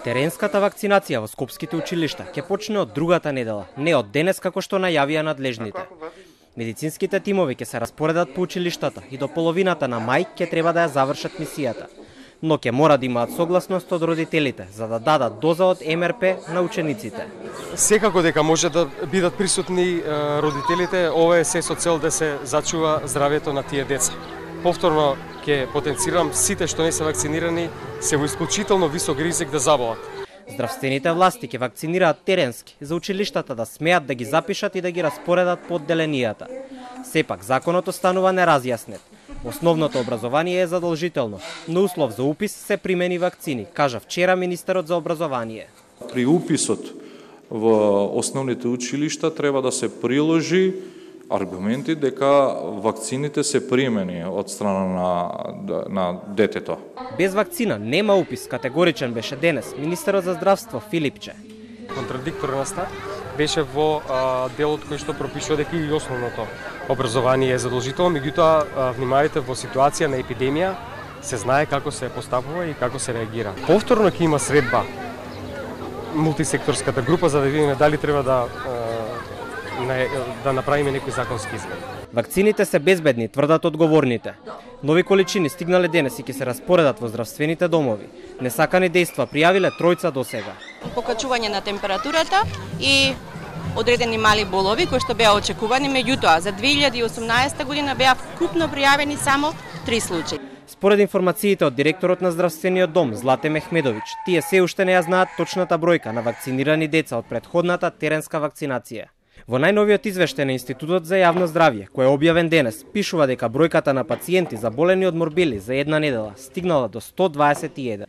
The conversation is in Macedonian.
Теренската вакцинација во скопските училишта ќе почне од другата недела, не од денес како што најавија надлежните. Медицинските тимови ќе се распоредат по училиштата и до половината на мај ќе треба да ја завршат мисијата, но ќе мора да имаат согласност од родителите за да дадат доза од МРП на учениците. Секако дека може да бидат присутни родителите, ова е се со цел да се зачува здравјето на тие деца. Повторно ќе потенцирам сите што не се вакцинирани се во исклучително висок ризик да заболат. Здравствените власти ќе вакцинираат теренски за училиштата да смеат да ги запишат и да ги распоредат по одделенијата. Сепак законот останува неразјаснет. Основното образование е задолжително, но услов за упис се примени вакцини, кажа вчера министерот за образование. При уписот во основните училишта треба да се приложи аргументи дека вакцините се примени од страна на детето. Без вакцина нема упис, категоричен беше денес министерот за здравство Филипче. Контрадикторна став беше во делот кој што пропишува дека и основното образование е задолжително, меѓутоа внимавајте, во ситуација на епидемија се знае како се постапува и како се реагира. Повторно ќе има средба мултисекторската група за да видиме дали треба да направиме некои законски измени. Вакцините се безбедни, тврдат одговорните. Нови количини стигнале денес и ќе се распоредат во здравствените домови. Несакани дејства пријавиле тројца до сега. Покачување на температурата и одредени мали болови кои што беа очекувани, меѓутоа за 2018 година беа вкупно пријавени само 3 случаи. Според информациите од директорот на здравствениот дом Злате Мехмедович, тие се уште не ја знаат точната бројка на вакцинирани деца од претходната теренска вакцинација. Во најновиот извештај на Институтот за јавно здравје, кој е објавен денес, пишува дека бројката на пациенти заболени од морбили за една недела стигнала до 121.